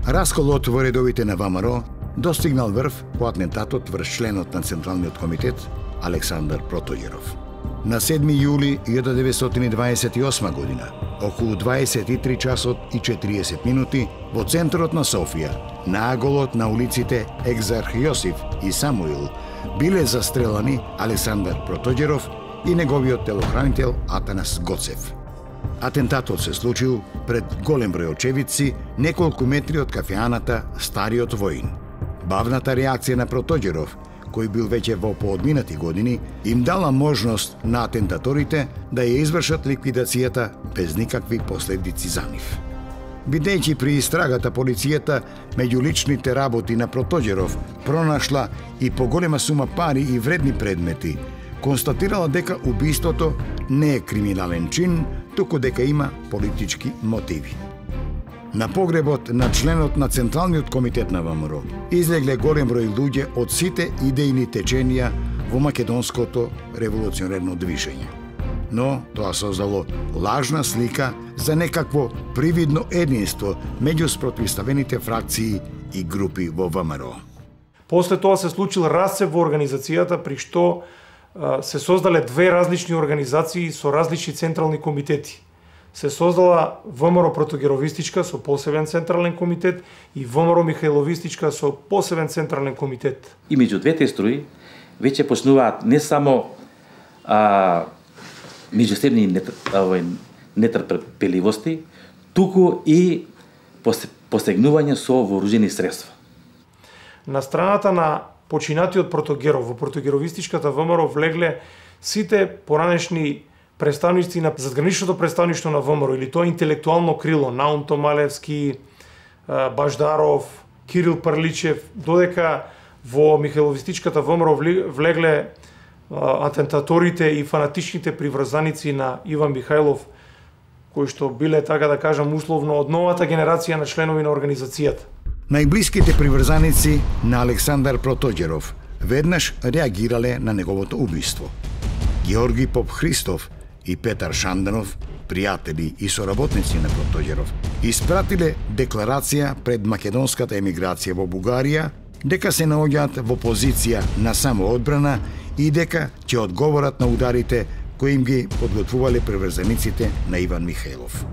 Расколот во редовите на ВМРО достигнал врв по атентатот врз членот на Централниот комитет Александар Протоѓеров. На 7 јули 1928 година, околу 23 часот и 40 минути, во центарот на Софија, нааголот на улиците Екзарх Јосиф и Самуил, биле застрелани Александар Протоѓеров и неговиот телохранител Атанас Гоцев. Атентатот се случил пред голем број очевидци, неколку метри од кафеаната Стариот воин. Бавната реакција на Протоѓеров, кој бил веќе во поодминати години, им дала можност на атентаторите да ја извршат ликвидацијата без никакви последици за нив. Бидејќи при истрагата полицијата меѓу личните работи на Протоѓеров пронашла и поголема сума пари и вредни предмети, констатирала дека убиството не е криминален чин, туку дека има политички мотиви. На погребот на членот на Централниот комитет на ВМРО излегле голем број луѓе од сите идејни теченија во македонското револуционерно движење. Но тоа создало лажна слика за некакво привидно единство меѓу спротивставените фракции и групи во ВМРО. После тоа се случил расцеп во организацијата, при што се создале две различни организации со различни централни комитети. Се создала ВМРО Протоѓеровистичка со посебен централен комитет и ВМРО Михајловистичка со посебен централен комитет. И меѓу двете струи веќе почнуваат не само меѓусебни нетрпеливости, туку и посегнување со вооружени средства. На страната на починатиот Протоѓеров во Протоѓеровистичката ВМРО влегле сите поранешни представници на задграничното представништво на ВМРО, или тоа интелектуално крило, Наум Томалевски, Баждаров, Кирил Парличев, додека во Михајловистичката ВМРО влегле атентаторите и фанатичните приврзаници на Иван Михајлов, кои што биле, така да кажам, условно од новата генерација на членови на организацијата. Најблиските приврзаници на Александар Протоѓеров веднаш реагирале на неговото убиство. Георги Поп Христов и Петар Шанданов, пријатели и соработници на Протоѓеров, испратиле декларација пред македонската емиграција во Бугарија дека се наоѓаат во позиција на самоодбрана и дека ќе одговорат на ударите кои им ги подготвувале приврзаниците на Иван Михајлов.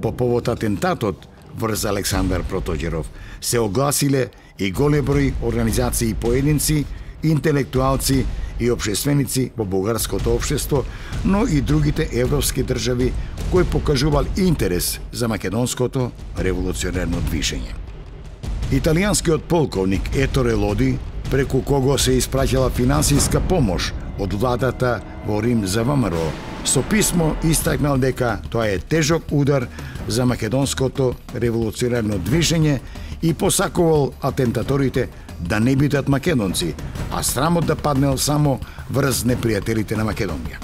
По повод атентатот врз Александар Протоѓеров се огласиле и голем број организации и поединци, интелектуалци и општественици во бугарското општество, но и другите европски држави кои покажувал интерес за македонското револуционерно движење. Италијанскиот полковник Еторе Лоди, преку кого се испраќала финансиска помош од владата во Рим за ВМРО, со писмо истакнал дека тоа е тежок удар за македонското револуционерно движење и посакувал атентаторите да не бидат македонци, а срамот да паднел само врз непријателите на Македонија.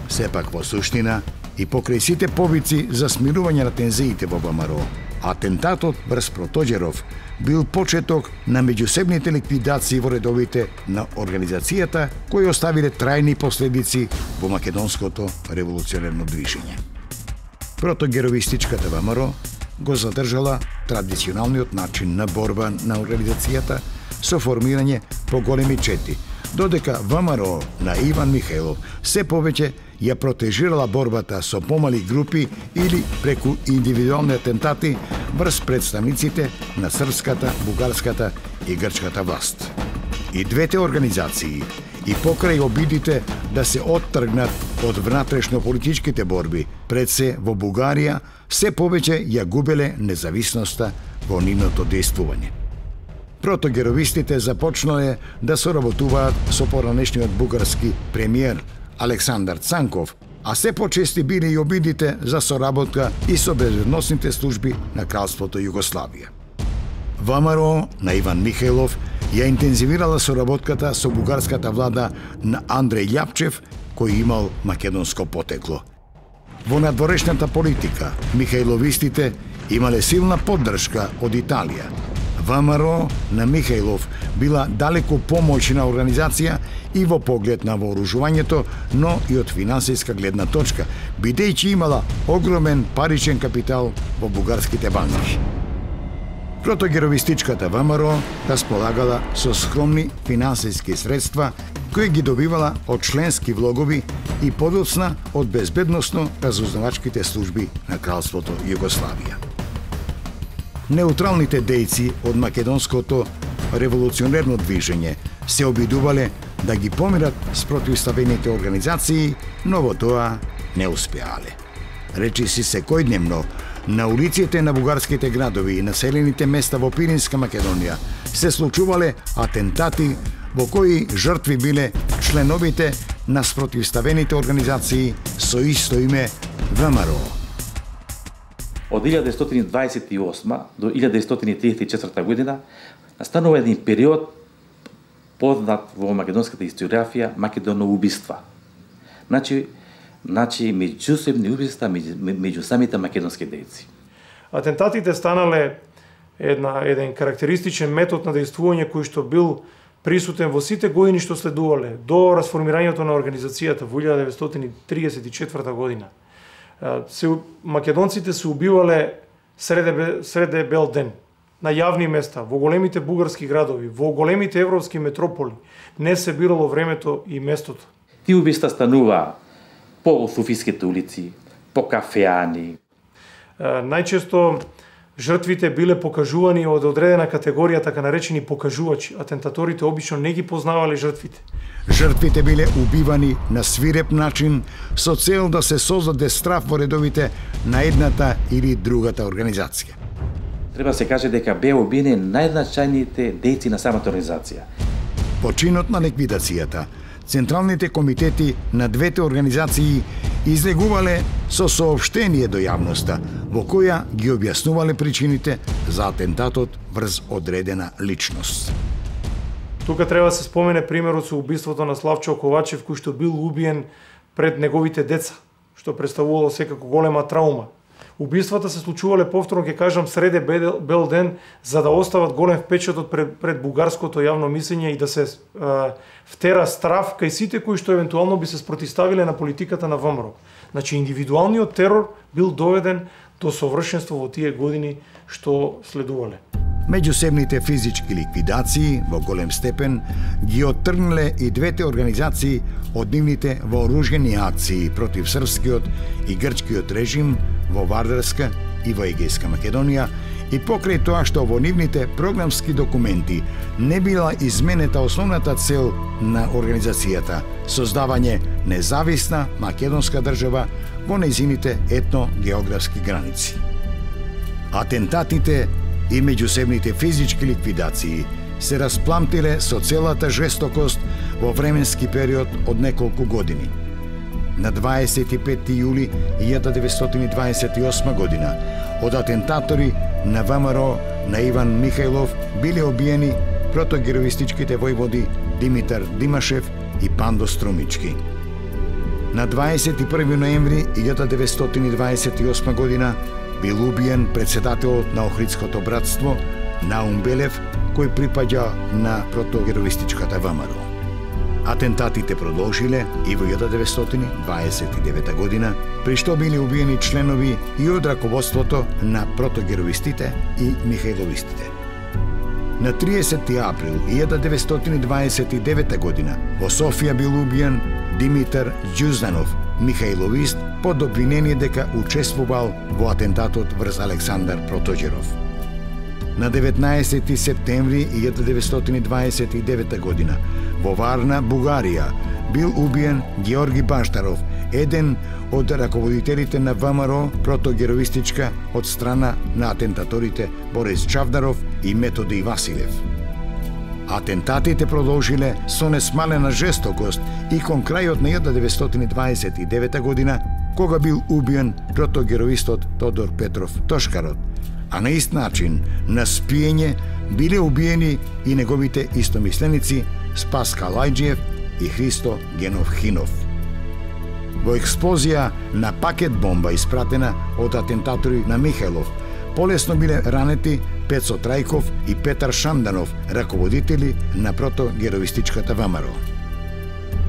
Сепак во суштина и покрај сите повици за смирување на тензиите во ВМРО, атентатот врз Протоѓеров бил почеток на меѓусебните ликвидации во редовите на организацијата кои оставиле трајни последици во македонското револуционерно движење. Протоѓеровистичката ВМРО го задржала традиционалниот начин на борба на организацијата со формирање по големи чети, додека ВМРО на Иван Михајлов се повеќе ја протежирала борбата со помали групи или преку индивидуални атентати врз представниците на српската, бугарската и грчката власт. И двете организации, и покрај обидите да се оттргнат од внатрешно-политичките борби, пред се во Бугарија, се повеќе ја губеле независноста во нивното действување. Протоѓеровистите започнале да соработуваат со поранешниот бугарски премиер Александар Цанков, а се почести биле и обидите за соработка и со безбедносните служби на Кралството Југославија. ВМРО на Иван Михајлов ја интензивирала соработката со бугарската влада на Андреј Љапчев, кој имал македонско потекло. Во надворешната политика, Михајловистите имале силна поддршка од Италија. ВМРО на Михајлов била далеку помоćна организација и во поглед на вооружувањето, но и од финансиска гледна точка, бидејќи имала огромен паричен капитал во бугарските банки. Протогеровистичката ВМРО располагала со скромни финансиски средства кои ги добивала од членски влогови и подоцна од безбедносно-разузнавачките служби на Кралството Југославија. Неутралните дејци од македонското револуционерно движење се обидувале да ги помират с противставените организации, но во тоа не успеале. Речиси секојдневно на улиците на бугарските градови и населените места во Пиринска Македонија се случувале атентати во кои жртви биле членовите на спротивставените организации со исто име ВМРО. Од 1928 до 1934 година настанува еден период познат во македонската историографија македоноубиства. Значи меѓусебни убиства меѓу самите македонски дејци. Атентатите станале еден карактеристичен метод на дејствување кој што бил присутен во сите години што следувале до расформирањето на организацијата во 1934 година. Македонците се убивале среде бел ден, на јавни места, во големите бугарски градови, во големите европски метрополи. Не се бирало времето и местото. Тие убиства станува по суфиските улици, по кафеани. Најчесто жртвите биле покажувани од одредена категорија, така наречени покажувачи. Атентаторите обично не ги познавале жртвите. Жртвите биле убивани на свиреп начин со цел да се создаде страф во редовите на едната или другата организација. Треба се каже дека беа убиени најзначајните дејци на самата организација. По чинот на ликвидацијата, централните комитети на двете организации излегувале со соопштение до јавноста, во која ги објаснувале причините за атентатот врз одредена личност. Тука треба да се спомене примерот со убиството на Славчо Ковачев, кој што бил убиен пред неговите деца, што представувало секако голема траума. Убиствата се случувале, повторно ќе кажам, среде бел ден, за да остават голем впечаток пред бугарското јавно мислење и да се втера страф кај сите кои што евентуално би се спротивставиле на политиката на ВМРО. Значи, индивидуалниот терор бил доведен до совршенство во тие години што следувале. Меѓусебните физички ликвидации во голем степен ги оттргнале и двете организации од нивните вооружени акции против српскиот и грчкиот режим во Вардарска и во Егејска Македонија и покрај тоа што во нивните програмски документи не била изменета основната цел на организацијата – создавање независна македонска држава во нејзините етно-географски граници. Атентатите и меѓусебните физички ликвидации се распламтиле со целата жестокост во временски период од неколку години. На 25 јули 1928 година од атентатори на ВМРО на Иван Михајлов биле убиени протогеровистичките војводи Димитар Димашев и Пандо Струмички. На 21 ноември 1928 година бил убиен председателот на Охридското братство Наум Белев, кој припаѓа на протогеровистичката ВМРО. Атентатите продолжиле и во 1929 година, при што били убиени членови и од раководството на протогеровистите и михајловистите. На 30 април 1929 година во Софија бил убиен Димитар Ѓузданов, михајловист, под обвинение дека учествувал во атентатот врз Александар Протоѓеров. На 19 септември 1929 година во Варна, Бугарија, бил убиен Георги Баштаров, еден од раководителите на ВМРО протогеровистичка од страна на атентаторите Борис Чавдаров и Методи Василев. Атентатите продолжиле со несмалена жестокост и кон крајот на 1929 година, кога бил убиен протогеровистот Тодор Петров Тошкарот, а на ист начин, на спиење, биле убиени и неговите истомисленици Спас Калајджиев и Христо Генов Хинов. Во експлозија на пакет бомба испратена од атентатори на Михајлов, полесно биле ранети Пецо Трајков и Петар Шанданов, раководители на протогеровистичката ВМРО.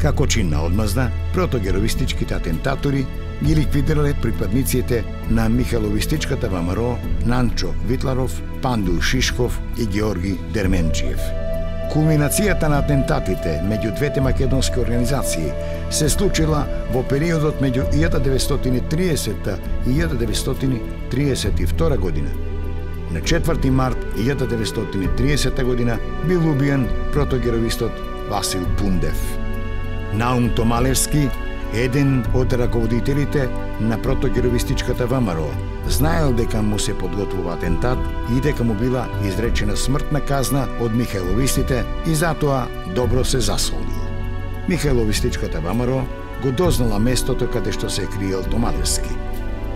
Како чин на одмазда, протогеровистичките атентатори ги ликвидирале припадниците на Михайловистичката ВМРО, Нанчо Витларов, Панду Шишков и Георги Дерменджиев. Кулминацијата на атентатите меѓу двете македонски организации се случила во периодот меѓу 1930 и 1932 година. На 4 март 1930 година бил убиен протогеровистот Васил Пундев. Наум Томалевски, еден од раководителите на протогеровистичката ВМРО, знаел дека му се подготвува атентат и дека му била изречена смртна казна од михајловистите и затоа добро се засолил. Михајловистичката ВМРО го дознала местото каде што се криел Томалевски.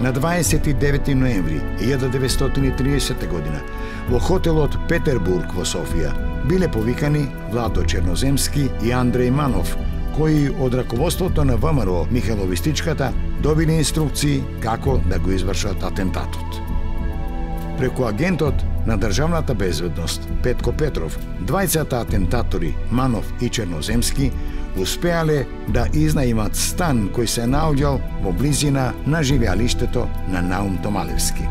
На 29 ноември 1930 година во хотелот Петербург во Софија биле повикани Владо Черноземски и Андреј Манов, кои од раководството на ВМРО Михајловистичката добили инструкции како да го извршат атентатот. Преку агентот на државната безбедност Петко Петров, двајцата атентатори Манов и Черноземски успеале да изнаимат стан кој се наоѓал во близина на живеалиштето на Наум Томалевски.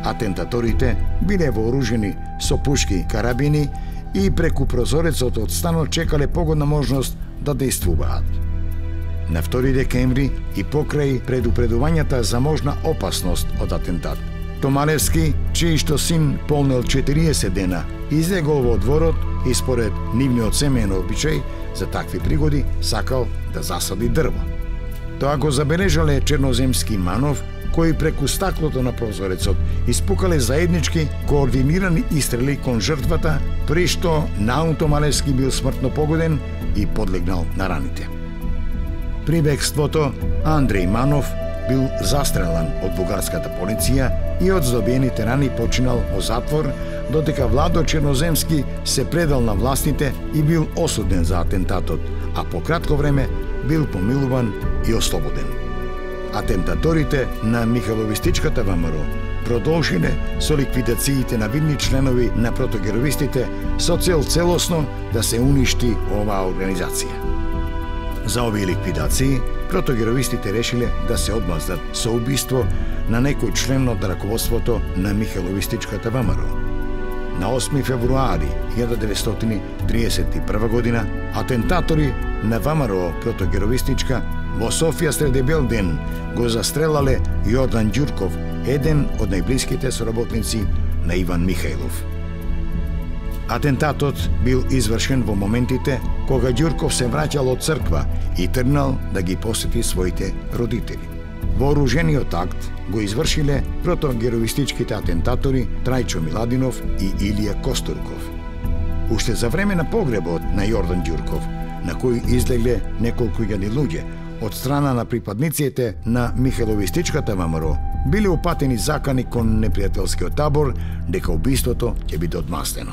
Атентаторите биле вооружени со пушки карабини и преку прозорецот од станот чекале погодна можност да действуваат. На 2 декември и покрај предупредувањата за можна опасност од атентат, Томалевски, чиј што син полнел 40 дена, излегол во дворот и според нивниот семеен обичај за такви пригоди сакал да засади дрво. Тоа го забележале Черноземски и Манов, кои преку стаклото на прозорецот испукале заеднички координирани истрели кон жртвата, при што Наум Томалевски бил смртно погоден и подлегнал на раните. При бегството Андреј Манов бил застрелан од бугарската полиција и од здобиените рани починал во затвор, додека Владо Черноземски се предал на властите и бил осуден за атентатот, а по кратко време бил помилуван и ослободен. Атентаторите на Михајловистичката ВМРО продолжиле со ликвидациите на видни членови на протогеровистите со цел целосно да се уништи оваа организација. За овие ликвидации, протогеровистите решиле да се одмаздат со убиство на некој член од раководството на Михајловистичката ВМРО. На 8 февруари 1931 година, атентатори на ВМРО протогеровистичка во Софија среде бел ден го застрелале Јордан Ѓурков, еден од најблиските соработници на Иван Михајлов. Атентатот бил извршен во моментите кога Ѓурков се враќал од црква и тргнал да ги посети своите родители. Вооружениот акт го извршиле протогеровистичките атентатори Трајчо Миладинов и Илија Костурков. Уште за време на погребот на Јордан Ѓурков, на кој излегле неколку илјади луѓе од страна на припадниците на Михајловистичката ВМРО, биле упатени закани кон непријателскиот табор дека убиството ќе биде одмастено.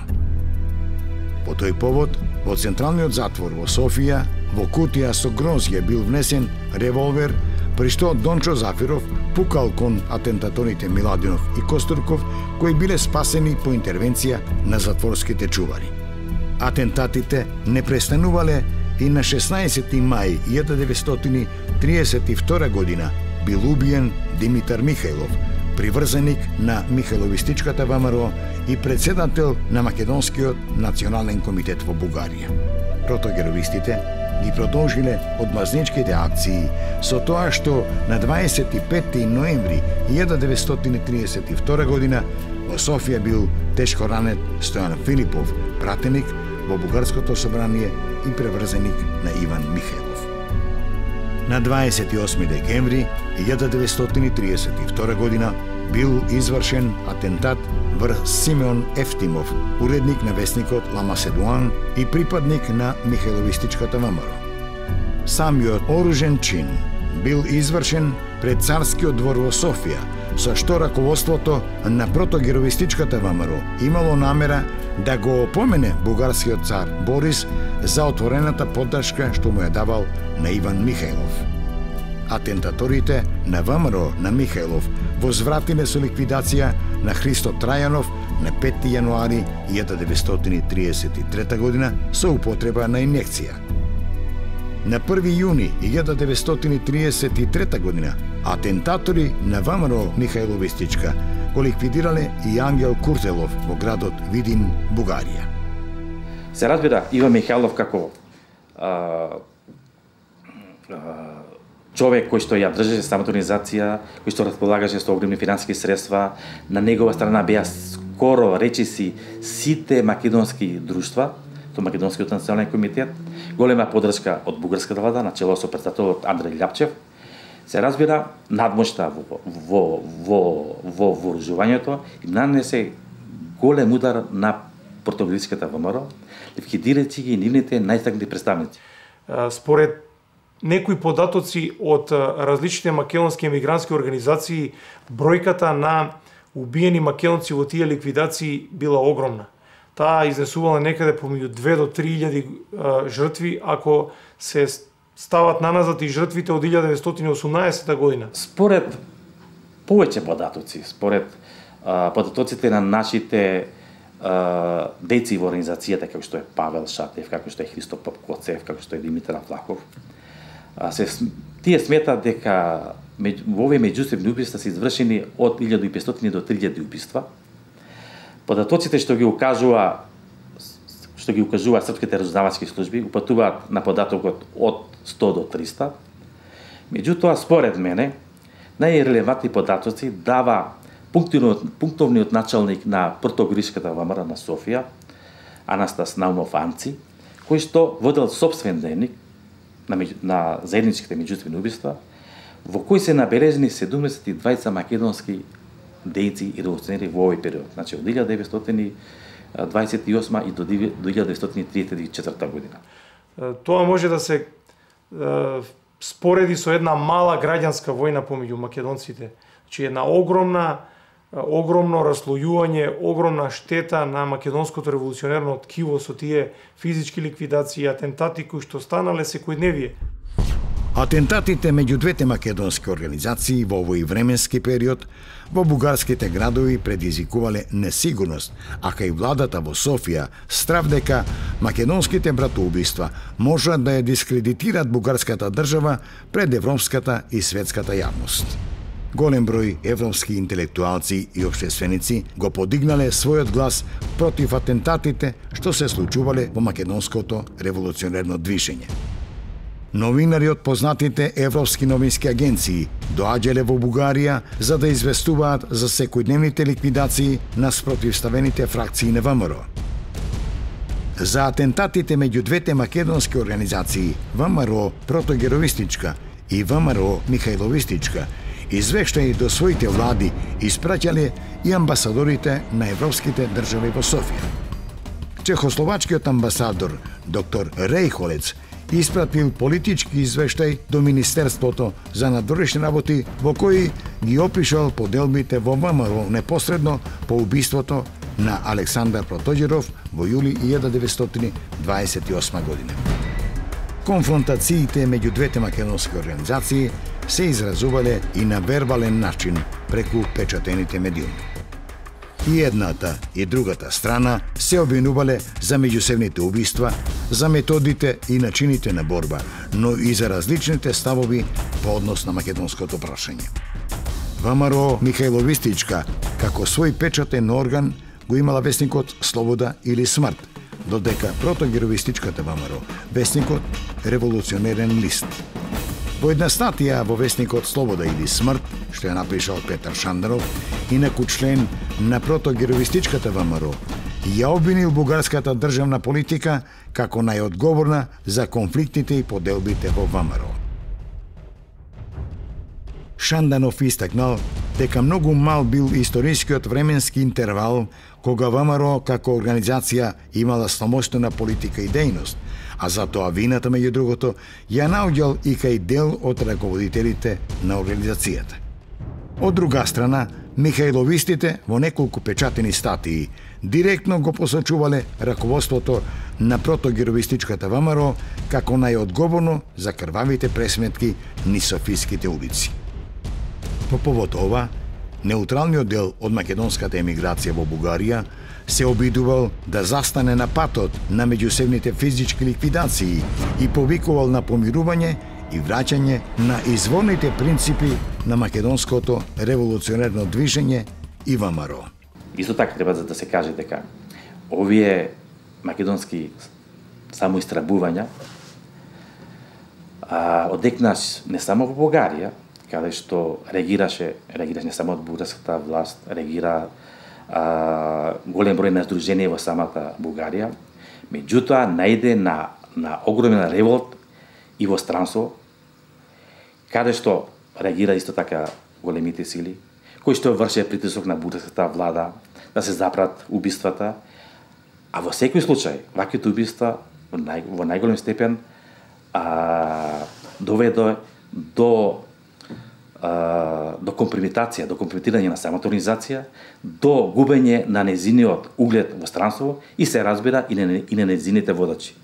По тој повод, во Централниот затвор во Софија, во кутија со грозје бил внесен револвер, при што Дончо Зафиров пукал кон атентаторите Миладинов и Костурков, кои биле спасени по интервенција на затворските чувари. Атентатите не престанувале и на 16 мај 1932 година бил убиен Димитар Михајлов, приврзаник на Михајловистичката ВМРО и председател на Македонскиот национален комитет во Бугарија. Протогеровистите ги продолжиле одмазничките акции со тоа што на 25 ноември 1932 година во Софија бил тешко ранет Стојан Филипов, пратеник во Бугарското собрание и преврзаник на Иван Михајлов. На 28 декември 1932 година бил извршен атентат врз Симеон Ефтимов, уредник на весникот Ла Маседуан и припадник на Михајловистичката ВМРО. Самиот оружен чин бил извршен пред Царскиот двор во Софија, со што раководството на протогеровистичката ВМРО имало намера да го опомене бугарскиот цар Борис за отворената поддршка што му ја давал на Иван Михајлов. Атентаторите на ВМРО на Михајлов возвратиле со ликвидација на Христо Трајанов на 5 јануари 1933 година со употреба на инјекција. На 1 јуни 1933 година атентатори на ВМРО Михајловистичка го ликвидирале и Ангел Куртелов во градот Видин, Бугарија. Се разбира, Иван Михајлов како човек кој што ја држеше самата организација, кој што располагаше со огромни финансиски средства, на негова страна беа скоро речиси сите македонски друштва, со Македонскиот национален комитет, голема поддршка од бугарската влада на чело со председателот Андреј Љапчев. Се разбира, надмошта во вооружувањето им нанесе голем удар на протогероистичката ВМРО, ликвидирајќи ги нивните најстакнати представници. Според некои податоци од различните македонски емигрантски организации, бројката на убиени македонци во тие ликвидации била огромна. Таа изнесувала некаде помеѓу 2 до 3.000 жртви, ако се стават наназад и жртвите од 1918 година. Според повеќе податоци, според податоците на нашите дејци во организацијата, како што е Павел Шатев, како што е Христо Попкоцев, како што е Димитар Влахов, тие сметаат дека во овие меѓусебни убиства се извршени од 1500 до 3000 убиства. Податоците што ги укажуваат српските разузнавачки служби упатуваат на податокот од 100 до 300. Меѓутоа, според мене, најрелевантни податоци дава пунктовниот началник на протогероистичката ВМРО на Софија, Анастас Наумов Анци, кој што водел сопствен дневник на заедничките меѓусебни убиства, во кој се набележени 72 македонски дејци и револуционери во овој период, значи од 1928 и до 1934 година. Тоа може да се спореди со една мала граѓанска војна помеѓу македонците. Значи една огромно раслојување, огромна штета на македонското револуционерно ткиво со тие физички ликвидации и атентати кои што станале секојдневие. Атентатите меѓу двете македонски организации во овој временски период во бугарските градови предизвикувале несигурност, а кај владата во Софија страв дека македонските братоубиства можат да ја дискредитираат бугарската држава пред европската и светската јавност. Голем број европски интелектуалци и општественици го подигнале својот глас против атентатите што се случувале во македонското револуционерно движење. Новинари од познатите европски новински агенции доаѓале во Бугарија за да известуваат за секојдневните ликвидации на спротивставените фракции на ВМРО. За атентатите меѓу двете македонски организации ВМРО Протогероистичка и ВМРО Михајловистичка извештаи до своите влади испраќале и амбасадорите на европските држави во Софија. Чехословачкиот амбасадор доктор Рейхолец испратил политички извештај до Министерството за надворешни работи во кој ги опишал поделбите во ВМРО непосредно по убиството на Александар Протоѓеров во јули 1928 година. Конфронтациите меѓу двете македонски организации се изразувале и на вербален начин преку печатените медиуми. И едната и другата страна се обвинувале за меѓусебните убиства, за методите и начините на борба, но и за различните ставови по однос на македонското прашање. ВМРО Михајловистичка, како свој печатен орган, го имала весникот Слобода или Смрт, додека Протогероистичката ВМРО весникот Револуционерен лист. Во една статија во весникот Слобода или Смрт, што ја напишал Петар Шанданов, инаку член на Протогероистичката ВМРО, ја обвинил бугарската државна политика како најодговорна за конфликтите и поделбите во ВМРО. Шанданов истакнал дека многу мал бил историскиот временски интервал кога ВМРО како организација имала самостојна политика и дејност, а затоа вината меѓу другото ја наоѓал и кај дел од раководителите на организацијата. Од друга страна, Михајловистите во неколку печатени статии директно го посочувале раководството на Протогероистичката ВМРО како најодговорно за крвавите пресметки низ софиските улици. По повод ова, неутралниот дел од македонската емиграција во Бугарија се обидувал да застане на патот на меѓусебните физички ликвидации и повикувал на помирување и враќање на изворните принципи на македонското револуционерно движење и ВМРО. Исто така треба да се каже дека овие македонски самоистрабувања одекнаш не само во Бугарија, каде што реагираше не само од бугарската власт, реагира голем број на здруженија во самата Бугарија, меѓутоа најде на огромен револт и во странство, каде што реагира исто така големите сили, кои што врше притисок на бугарската влада да се запрат убиствата, а во секој случај ваквите убиства во најголем степен доведе до компрометација, до компрометирање на самата организација, до губење на незиниот углед во странство и се разбира и на незините водачи.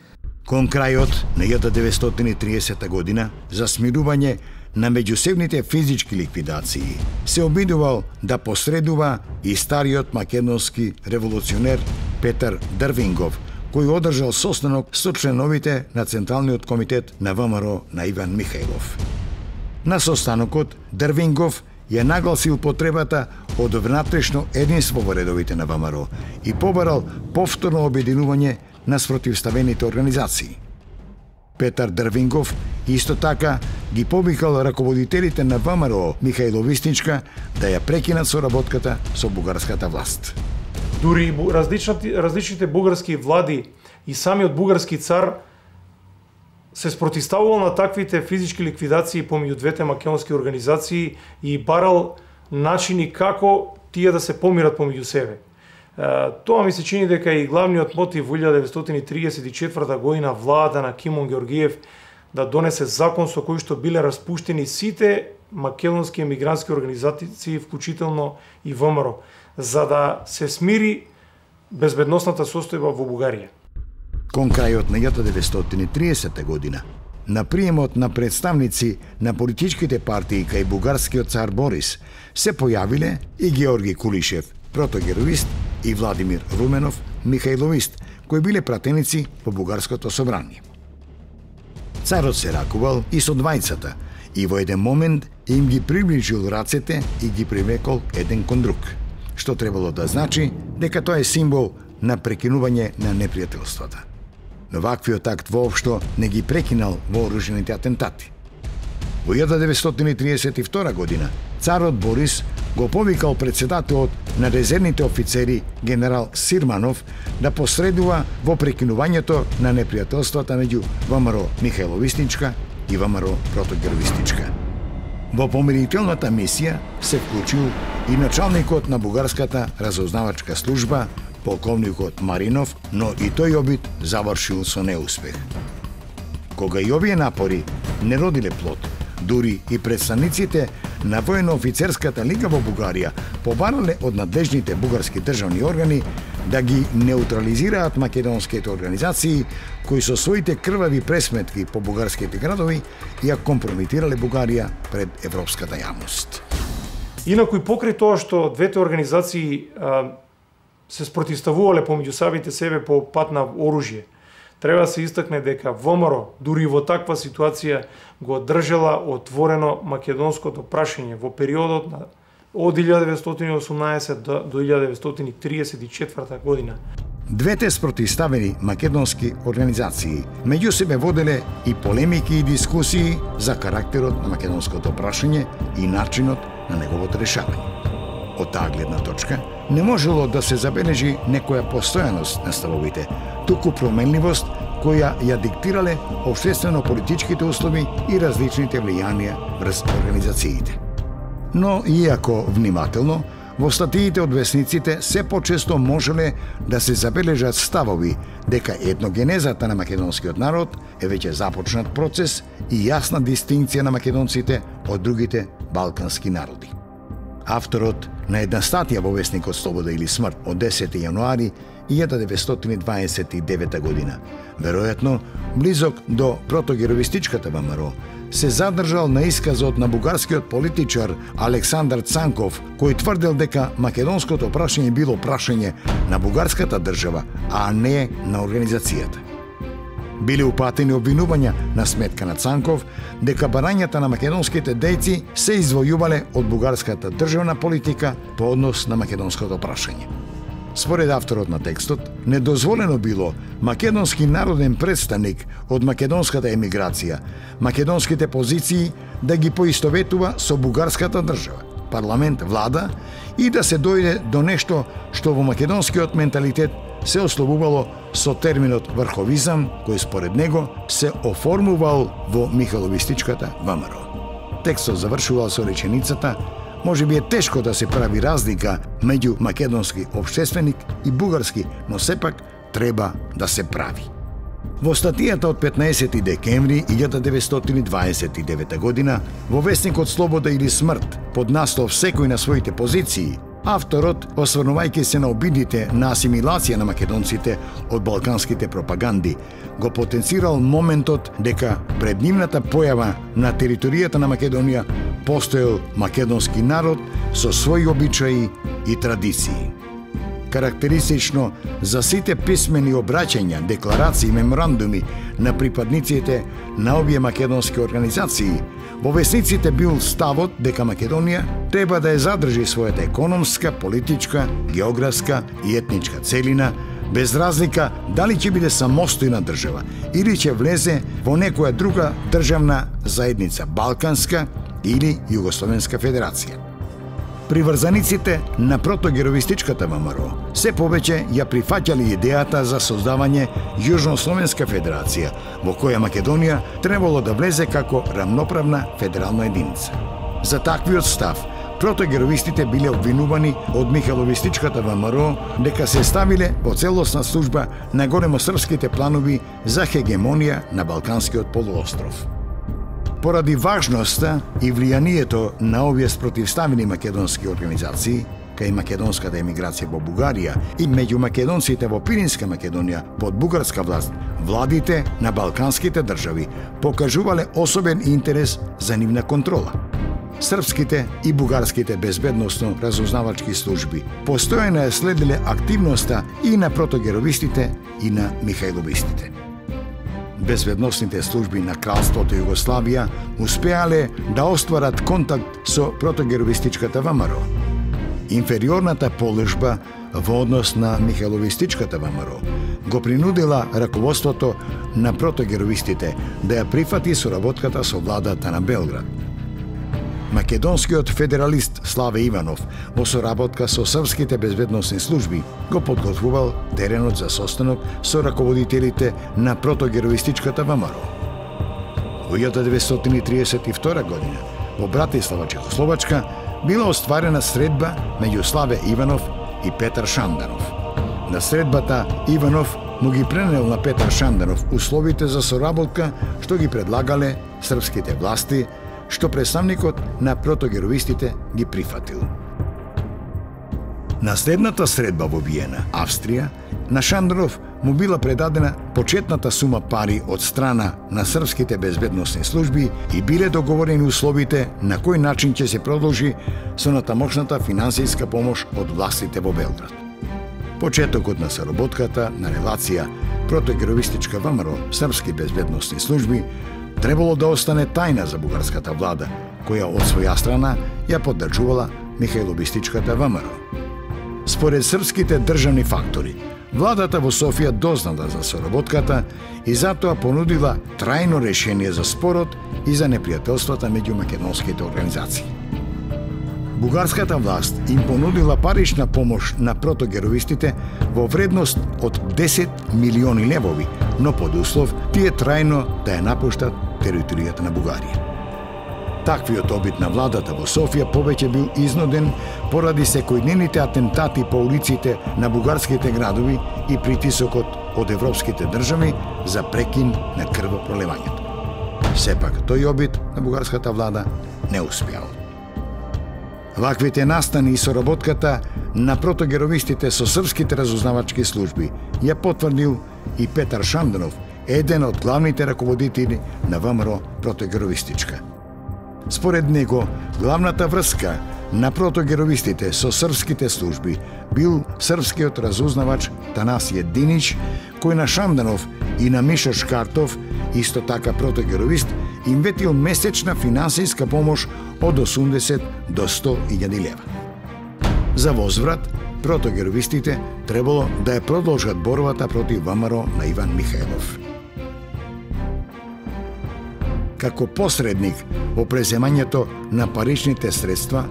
Кон крајот на 1930 година, за смирување на меѓусебните физички ликвидации, се обидувал да посредува и стариот македонски револуционер Петар Дрвингов, кој одржал состанок со членовите на Централниот комитет на ВМРО на Иван Михајлов. На состанокот Дрвингов ја нагласил потребата од внатрешно единство во редовите на ВМРО и побарал повторно обединување на спротивставените организации. Петар Дрвингов исто така ги повикал раководителите на ВМРО Михајловистичка да ја прекинат соработката со бугарската власт. Дури различните бугарски влади и самиот бугарски цар се спротивставувал на таквите физички ликвидации помеѓу двете македонски организации и барал начини како тие да се помират помеѓу себе. Тоа ми се чини дека и главниот мотив во 1934 година влада на Кимон Георгиев да донесе закон со кој што биле распуштени сите македонски емигрантски организации, вклучително и ВМРО, за да се смири безбедносната состојба во Бугарија. Кон крајот на 1930 година, на приемот на представници на политичките партии кај бугарскиот цар Борис, се појавиле и Георги Кулишев, протогеровист, и Владимир Руменов, Михајловист, кои биле пратеници во бугарското собрание. Царот се ракувал и со двајцата и во еден момент им ги приближил рацете и ги привлекол еден кон друг, што требало да значи дека тоа е символ на прекинување на непријателствата. Но ваквиот акт воопшто не ги прекинал вооружените атентати. Во 1932 година царот Борис го повикал председателот на резервните офицери генерал Сирманов да посредува во прекинувањето на непријателствата меѓу ВМРО Михајловистичка и ВМРО Протогеровистичка. Во помирителната мисија се вклучил и началникот на бугарската разузнавачка служба, полковникот Маринов, но и тој обид завршил со неуспех. Кога и овие напори не родиле плод, дури и представниците на военно-офицерската лига во Бугарија побарале од надлежните бугарски државни органи да ги неутрализираат македонските организации кои со своите крвави пресметки по бугарските градови ја компрометирале Бугарија пред европската јавност. Инаку и покрај тоа што двете организации се спротивставувале помеѓу самите себе по пат на оружје, треба да се истакне дека ВМРО дури во таква ситуација го држала отворено македонското прашање во периодот од 1918 до 1934 година. Двете спротивставени македонски организации меѓу себе воделе и полемики и дискусии за карактерот на македонското прашање и начинот на неговото решавање. Од таа гледна точка не можело да се забележи некоја постојаност на ставовите, туку променливост која ја диктирале општествено-политичките услови и различните влијанија врз организациите. Но, иако внимателно, во статиите од весниците се почесто можеле да се забележат ставови дека етногенезата на македонскиот народ е веќе започнат процес и јасна дистинција на македонците од другите балкански народи. авторот на една статија во весникот Слобода или смрт од 10. јануари 1929 година, веројатно близок до протогеровистичката ВМРО, се задржал на исказот на бугарскиот политичар Александар Цанков, кој тврдел дека македонското прашање било прашање на бугарската држава, а не на организацијата. Биле упатени обвинувања на сметка на Цанков дека барањата на македонските дејци се извојувале од бугарската државна политика по однос на македонското прашање. Според авторот на текстот, недозволено било македонски народен представник од македонската емиграција, македонските позиции да ги поистоветува со бугарската држава, парламент, влада и да се дојде до нешто што во македонскиот менталитет се ословувало со терминот врховизам, кој според него се оформувал во михайловистичката ВМРО. Текстот завршувал со реченицата: може би е тешко да се прави разлика меѓу македонски општественик и бугарски, но сепак треба да се прави. Во статијата од 15 декември 1929 година во весникот Слобода или смрт под наслов Секој на своите позиции, авторот, осврнувајќи се на обидите на асимилација на македонците од балканските пропаганди, го потенцирал моментот дека пред нивната појава на територијата на Македонија постоел македонски народ со своји обичаи и традиции. Карактеристично за сите писмени обраќања, декларации и меморандуми на припадниците на овие македонски организации, во весниците бил ставот дека Македонија треба да ја задржи својата економска, политичка, географска и етничка целина, без разлика дали ќе биде самостојна држава или ќе влезе во некоја друга државна заедница, Балканска или Југословенска федерација. Приврзаниците на протогеровистичката ВМРО се повеќе ја прифаќале идејата за создавање Јужнословенска федерација, во која Македонија требало да влезе како рамноправна федерална единица. За таквиот став, протогеровистите биле обвинувани од михайловистичката ВМРО дека се ставиле во целосна служба на големосрпските планови за хегемонија на Балканскиот полуостров. Поради важноста и влијанието на овие спротивставени македонски организации, кај македонската емиграција во Бугарија и меѓу македонците во Пиринска Македонија под бугарска власт, владите на балканските држави покажувале особен интерес за нивна контрола. Српските и бугарските безбедносно разузнавачки служби постојано ја следеле активноста и на протогеровистите и на михайловистите. Безбедносните служби на Кралството Југославија успеале да остварат контакт со протогеровистичката ВМРО. Инфериорната положба во однос на михайловистичката ВМРО го принудила раководството на протогеровистите да ја прифати соработката со владата на Белград. Македонскиот федералист Славе Иванов во соработка со српските безбедносни служби го подготвувал теренот за состанок со раководителите на протогеровистичката ВМРО. Во 1932 година во Братислава, Чехословачка, била остварена средба меѓу Славе Иванов и Петар Шанданов. На средбата Иванов му ги пренел на Петар Шанданов условите за соработка што ги предлагале српските власти, што представникот на протогеровистите ги прифатил. На следната средба во Виена, Австрија, на Шанданов му била предадена почетната сума пари од страна на српските безбедносни служби и биле договорени условите на кој начин ќе се продолжи со натамошната финансиска помош од властите во Белград. Почетокот на соработката на релација протогеровистичка ВМРО српски безбедносни служби требало да остане тајна за бугарската влада, која од своја страна ја поддржувала михайловистичката ВМРО. Според српските државни фактори, владата во Софија дознала за соработката и затоа понудила трајно решение за спорот и за непријателствата меѓу македонските организации. Бугарската власт им понудила парична помош на протогеровистите во вредност од 10 милиони левови, но под услов тие трајно да ја напуштат територијата на Бугарија. Таквиот обид на владата во Софија повеќе бил изнуден поради секојдневните атентати по улиците на бугарските градови и притисокот од европските држави за прекин на крвопроливањето. Сепак, тој обид на бугарската влада не успеал. Ваквите настани и соработката на протогеровистите со српските разузнавачки служби ја потврдил и Петар Шанданов, еден од главните раководители на ВМРО протогеровистичка. Според него, главната врска на протогеровистите со српските служби бил српскиот разузнавач Танасије Динич, кој на Шанданов и на Миша Шкартов, исто така протогеровист, им ветил месечна финансиска помош од 80 до 100.000 лева. За возврат, протогеровистите требало да ја продолжат борбата против ВМРО на Иван Михајлов. Како посредник во преземањето на паричните средства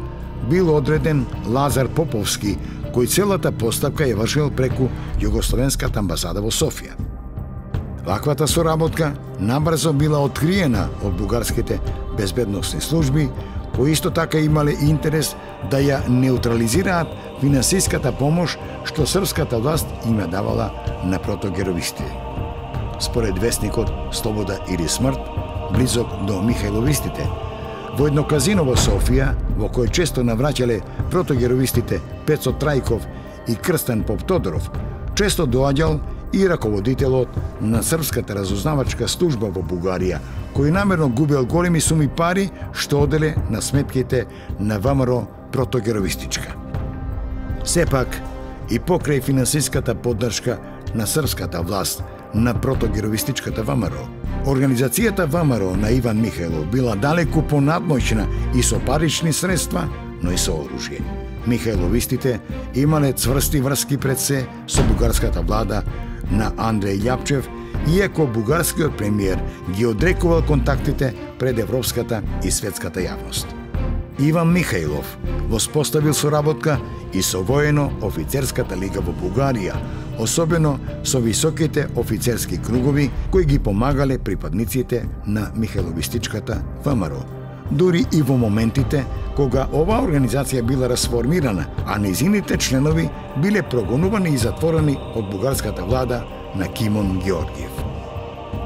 бил одреден Лазар Поповски, кој целата постапка ја вршил преку Југословенската амбасада во Софија. Ваквата соработка набрзо била откриена од бугарските безбедносни служби, кои исто така имале интерес да ја неутрализираат финансиската помош што српската власт им ја давала на протогеровисти. Според вестникот Слобода или смрт, близок до Михајловистите, во едно казино во Софија, во кој често навраќале протогеровистите Пецо Трајков и Крстен Поп Тодоров, често доаѓал и раководителот на српската разузнавачка служба во Бугарија, кој намерно губел големи суми пари што оделе на сметките на ВМРО протогеровистичка. Сепак, и покрај финансиската поддршка на српската власт на протогеровистичката ВМРО, организацијата ВМРО на Иван Михајлов била далеку понадмоćна и со парични средства, но и со оружје. Михајловистите имале цврсти врски пред се со бугарската влада на Андреј Љапчев, иако бугарскиот премиер ги одрекувал контактите пред европската и светската јавност. Иван Михајлов воспоставил соработка и со воено-офицерската лига во Бугарија, особено со високите офицерски кругови кои ги помагале припадниците на Михајловистичката ВМРО. Дури и во моментите кога оваа организација била расформирана, а незините членови биле прогонувани и затворени од бугарската влада на Кимон Георгиев.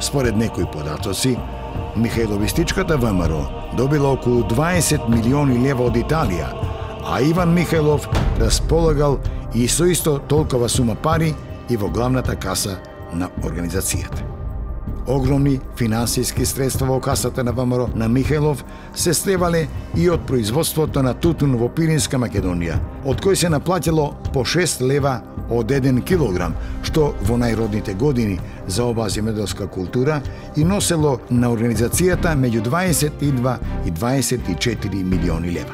Според некои податоци, Михајловистичката ВМРО добила околу 20 милиони лева од Италија, а Иван Михајлов располагал и со исто толкова сума пари и во главната каса на организацијата. Огромни финансиски средства во касата на ВМРО на Михајлов се слевале и од производството на тутун во Пиринска Македонија, од кој се наплатило по 6 лева од 1 килограм, што во најродните години за оваа земјоделска култура и носело на организацијата меѓу 22 и 24 милиони лева.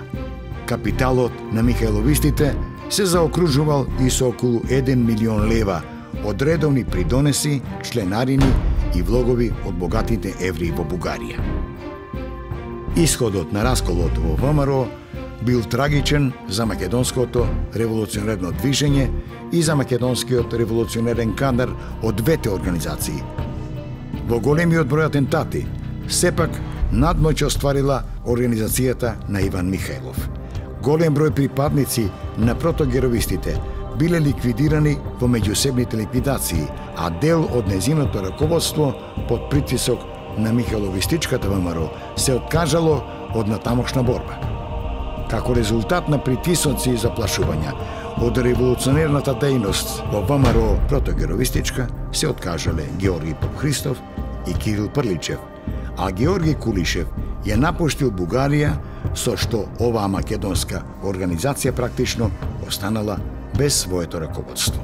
Капиталот на Михајловистите се заокружувал и со околу 1 милион лева од редовни придонеси, членарини и влогови од богатите евреи во Бугарија. Исходот на расколот во ВМРО бил трагичен за македонското револуционерно движење и за македонскиот револуционерен кадар од двете организации. Во големиот број атентати, сепак надмоќ остварила организацијата на Иван Михајлов. Голем број припадници на протогеровистите биле ликвидирани во меѓусебните ликвидации, а дел од незиното раководство под притисок на Михајловистичката ВМРО се откажало од натамошна борба. Како резултат на притисоци и заплашувања од револуционерната дејност во ВМРО протогеровистичка се откажале Георги Попхристов и Кирил Прличев, а Георги Кулишев ја напуштил Бугарија, со што оваа македонска организација практично останала без своето раководство.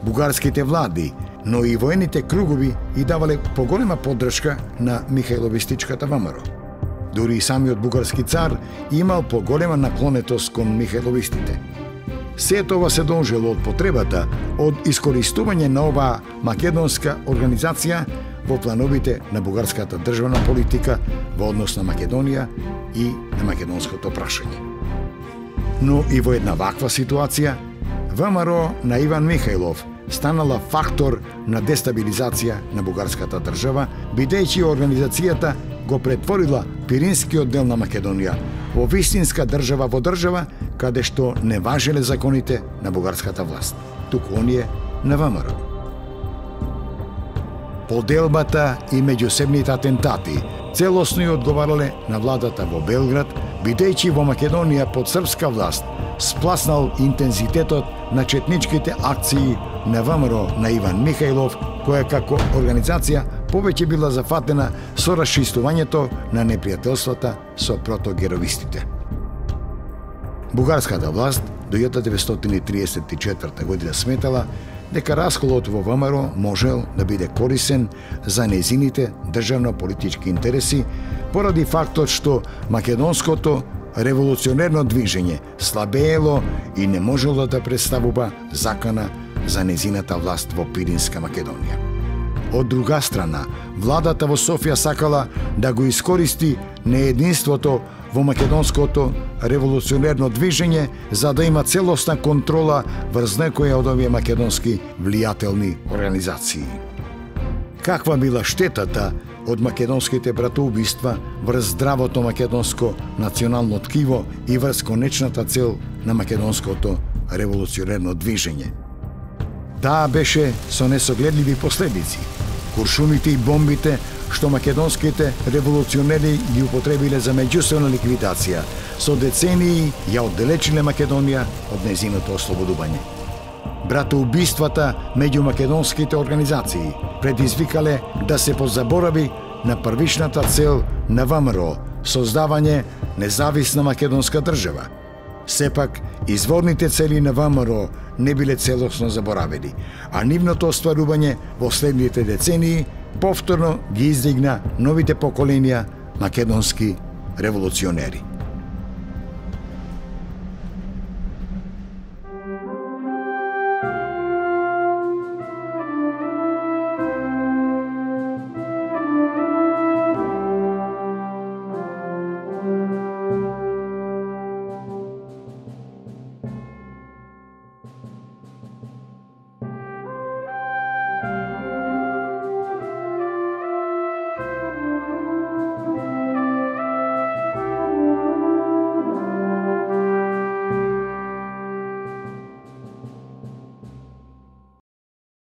Бугарските влади, но и воените кругови и давале поголема поддршка на Михајловистичката ВМРО. Дури и самиот бугарски цар имал поголема наклонетост кон Михајловистите. Сето тоа се дължило од потребата од искористување на оваа македонска организација во плановите на бугарската државна политика во однос на Македонија и на македонското прашање. Но и во една ваква ситуација, ВМРО на Иван Михајлов станала фактор на дестабилизација на бугарската држава, бидејќи организацијата го претворила Пиринскиот дел на Македонија во вистинска држава во држава, каде што не важеле законите на бугарската власт, туку оние на ВМРО. Поделбата и меѓусебните атентати целосно ја одговарале на владата во Белград, бидејќи во Македонија под српска власт спласнал интензитетот на четничките акции на ВМРО на Иван Михајлов, која како организација повеќе била зафатена со расчистувањето на непријателствата со протогеровистите. Бугарската власт до 1934 година сметала дека расколот во ВМРО можел да биде корисен за незините државно-политички интереси поради фактот што македонското револуционерно движење слабеело и не можело да представува закана за незината власт во Пиринска Македонија. Од друга страна, владата во Софија сакала да го искористи неединството во македонското револуционерно движење за да има целосна контрола врз некоја од овие македонски влијателни организации. Каква била штетата од македонските братоубиства врз здравото македонско национално ткиво и врз конечната цел на македонското револуционерно движење? Таа беше со несогледливи последици. Куршумите и бомбите што македонските револуционери ги употребиле за меѓусебна ликвидација, со децении ја оддалечиле Македонија од незиното ослободување. Братоубиствата меѓу македонските организации предизвикале да се позаборави на првичната цел на ВМРО – создавање независна македонска држава. Сепак, изворните цели на ВМРО не биле целосно заборавени, а нивното остварување во следните децении повторно ги издигна новите поколенија македонски револуционери.